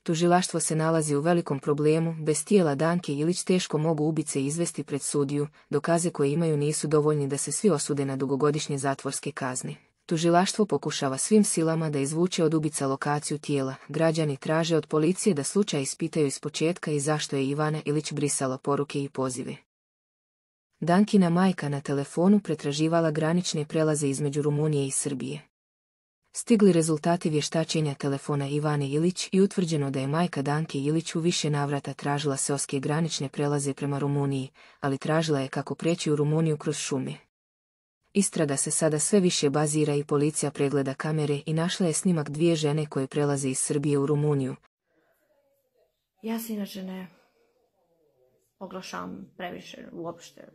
Tužilaštvo se nalazi u velikom problemu, bez tijela Danke Ilić teško mogu ubice izvesti pred sudiju, dokaze koje imaju nisu dovoljni da se svi osude na dugogodišnje zatvorske kazne. Tužilaštvo pokušava svim silama da izvuče od ubica lokaciju tijela, građani traže od policije da slučaj ispitaju ispočetka i zašto je Ivana Ilić brisala poruke i pozive. Dankina majka na telefonu pretraživala granične prelaze između Rumunije i Srbije. Stigli rezultati vještačenja telefona Ivane Ilić i utvrđeno da je majka Danke Ilić u više navrata tražila seoske granične prelaze prema Rumuniji, ali tražila je kako preći u Rumuniju kroz šume. Istraga se sada sve više bazira i policija pregleda kamere i našla je snimak dvije žene koje prelaze iz Srbije u Rumuniju. Ja se inače ne oglašavam previše uopšte,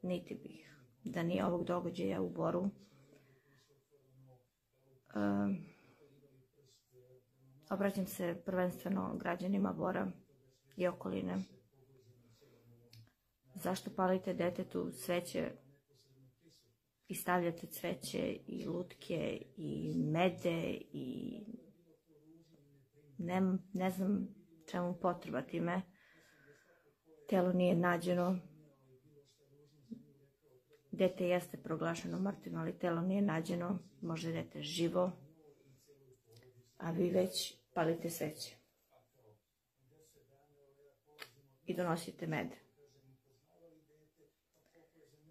niti bih da nije ovog događaja u Boru. Obraćam se prvenstveno građanima Bora i okoline. Zašto palite detetu sveće i stavljate cveće i lutke i mede i ne znam čemu potreba time. Telo nije nađeno. Dete jeste proglašeno mrtvim, ali telo nije nađeno. Može dete živo, a vi već palite sveće i donosite med.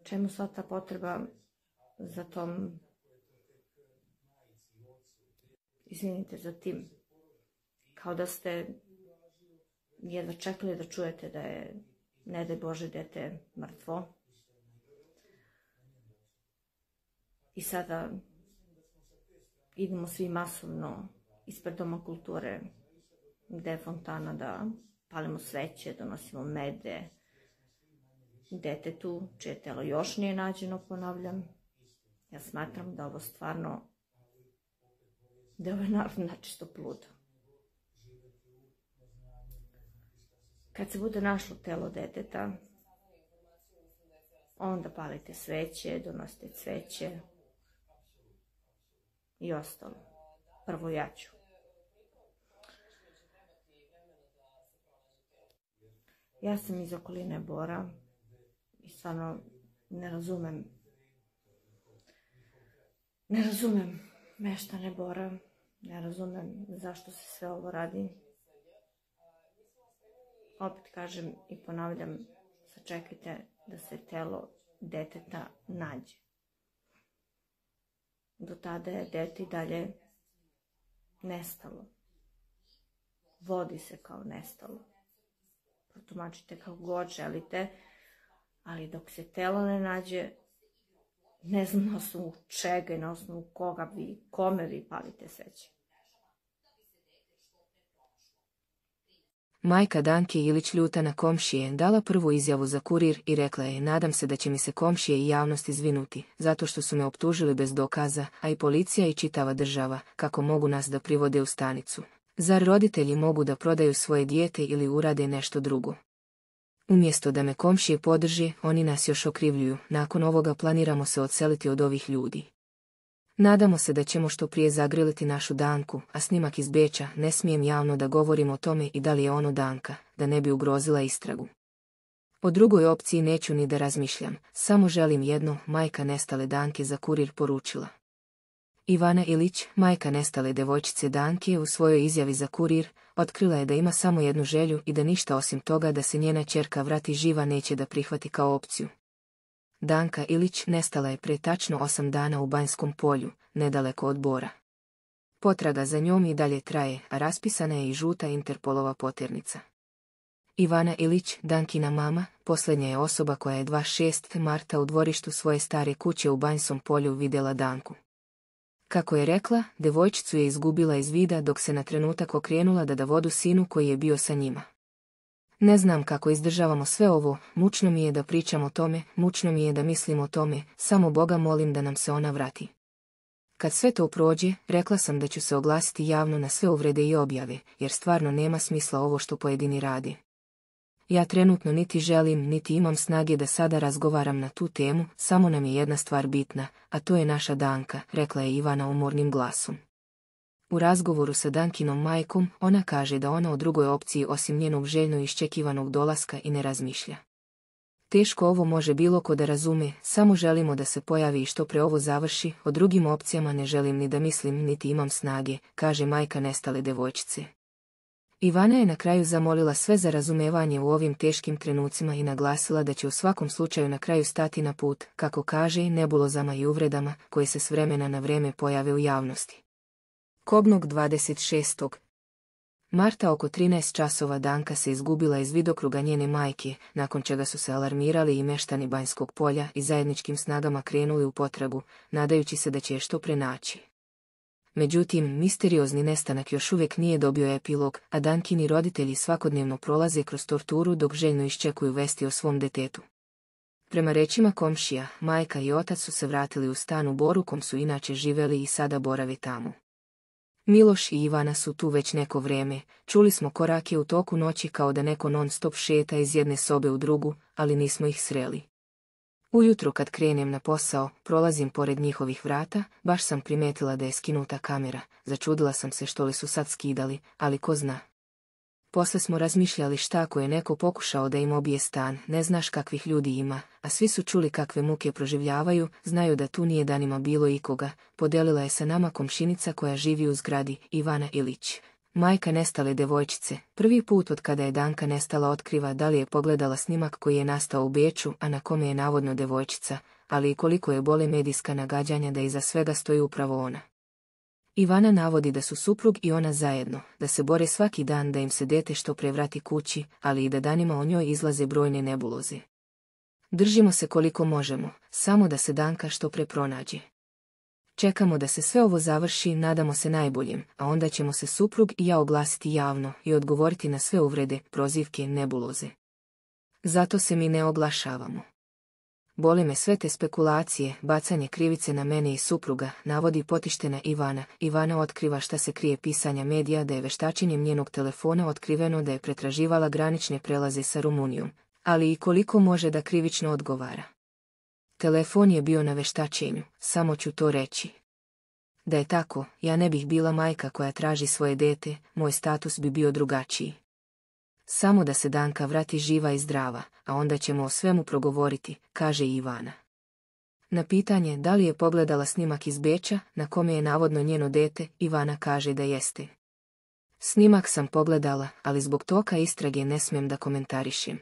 Čemu sva ta potreba za tom, izvinite, za tim? Kao da ste jedva čekali da čujete da je, ne daj Bože, dete mrtvo. I sada idemo svi masovno ispred Doma kulture, gde je fontana, da palimo sveće, donosimo mede detetu, čije telo još nije nađeno, ponavljam. Ja smatram da ovo stvarno, da je ovaj narod načisto pludo. Kad se bude našlo telo deteta, onda palite sveće, donosite cveće i ostalo. Prvo ja ću. Ja sam iz okoline Bora i stvarno ne razumem meštane Bora, ne razumem zašto se sve ovo radi. Opet kažem i ponavljam, sačekajte da se telo deteta nađe. Do tada je dete i dalje nestalo. Vodi se kao nestalo. Protumačite kako god želite, ali dok se telo ne nađe, ne znam na osnovu čega i na osnovu kome vi palite sveće. Majka Danke Ilić, ljuta na komšije, dala prvu izjavu za Kurir i rekla je: nadam se da će mi se komšije i javnost izvinuti, zato što su me optužili bez dokaza, a i policija i čitava država, kako mogu nas da privode u stanicu. Zar roditelji mogu da prodaju svoje dijete ili urade nešto drugo? Umjesto da me komšije podrže, oni nas još okrivljuju. Nakon ovoga planiramo se odseliti od ovih ljudi. Nadamo se da ćemo što prije zagriliti našu Danku, a snimak iz Beča, ne smijem javno da govorim o tome i da li je ono Danka, da ne bi ugrozila istragu. O drugoj opciji neću ni da razmišljam, samo želim jedno, majka nestale Danke za Kurir poručila. Ivana Ilić, majka nestale devojčice Danke, u svojoj izjavi za Kurir, otkrila je da ima samo jednu želju i da ništa osim toga da se njena ćerka vrati živa neće da prihvati kao opciju. Danka Ilić nestala je pre tačno 8 dana u Banjskom polju, nedaleko od Bora. Potraga za njom i dalje traje, a raspisana je i žuta Interpolova poternica. Ivana Ilić, Dankina mama, posljednja je osoba koja je 26. marta u dvorištu svoje stare kuće u Banjskom polju vidjela Danku. Kako je rekla, devojčicu je izgubila iz vida dok se na trenutak okrenula da da vodu sinu koji je bio sa njima. Ne znam kako izdržavamo sve ovo, mučno mi je da pričam o tome, mučno mi je da mislim o tome, samo Boga molim da nam se ona vrati. Kad sve to prođe, rekla sam da ću se oglasiti javno na sve uvrede i objave, jer stvarno nema smisla ovo što pojedini radi. Ja trenutno niti želim, niti imam snage da sada razgovaram na tu temu, samo nam je jedna stvar bitna, a to je naša Danka, rekla je Ivana umornim glasom. U razgovoru sa Dankinom majkom, ona kaže da ona o drugoj opciji osim njenog željno iščekivanog dolaska i ne razmišlja. Teško ovo može bilo ko da razume, samo želimo da se pojavi i što pre ovo završi, o drugim opcijama ne želim ni da mislim niti imam snage, kaže majka nestale devojčice. Ivana je na kraju zamolila sve za razumevanje u ovim teškim trenucima i naglasila da će u svakom slučaju na kraju stati na put, kako kaže, nebulozama i uvredama koje se s vremena na vreme pojave u javnosti. Kobnog 26. marta oko 13 časova Danka se izgubila iz vidokruga njene majke, nakon čega su se alarmirali i meštani Banjskog polja i zajedničkim snagama krenuli u potragu, nadajući se da će je što pre naći. Međutim, misteriozni nestanak još uvijek nije dobio epilog, a Dankini roditelji svakodnevno prolaze kroz torturu dok željno iščekuju vesti o svom detetu. Prema rečima komšija, majka i otac su se vratili u stan u Boru kom su inače živeli i sada borave tamo. Miloš i Ivana su tu već neko vrijeme, čuli smo korake u toku noći kao da neko non-stop šeta iz jedne sobe u drugu, ali nismo ih sreli. Ujutro kad krenem na posao, prolazim pored njihovih vrata, baš sam primetila da je skinuta kamera, začudila sam se što li su sad skidali, ali ko zna. Posle smo razmišljali šta ako je neko pokušao da im obije stan, ne znaš kakvih ljudi ima, a svi su čuli kakve muke proživljavaju, znaju da tu nije danima bilo ikoga, podelila je sa nama komšinica koja živi u zgradi, Ivana Ilić. Majka nestale devojčice, prvi put od kada je Danka nestala otkriva da li je pogledala snimak koji je nastao u Beču, a na kome je navodno devojčica, ali i koliko je bole medijska nagađanja da iza svega stoji upravo ona. Ivana navodi da su suprug i ona zajedno, da se bore svaki dan da im se dete što pre vrati kući, ali i da danima o njoj izlaze brojne nebuloze. Držimo se koliko možemo, samo da se Danka što pre pronađe. Čekamo da se sve ovo završi, nadamo se najboljem, a onda ćemo se suprug i ja oglasiti javno i odgovoriti na sve uvrede, prozivke, nebuloze. Zato se mi ne oglašavamo. Boli me sve te spekulacije, bacanje krivice na mene i supruga, navodi potištena Ivana. Ivana otkriva šta se krije pisanja medija da je veštačenjem njenog telefona otkriveno da je pretraživala granične prelaze sa Rumunijom, ali i koliko može da krivično odgovara. Telefon je bio na veštačenju, samo ću to reći. Da je tako, ja ne bih bila majka koja traži svoje dete, moj status bi bio drugačiji. Samo da se Danka vrati živa i zdrava, a onda ćemo o svemu progovoriti, kaže Ivana. Na pitanje da li je pogledala snimak iz Beča, na kome je navodno njeno dete, Ivana kaže da jeste. Snimak sam pogledala, ali zbog toka istrage ne smijem da komentarišem.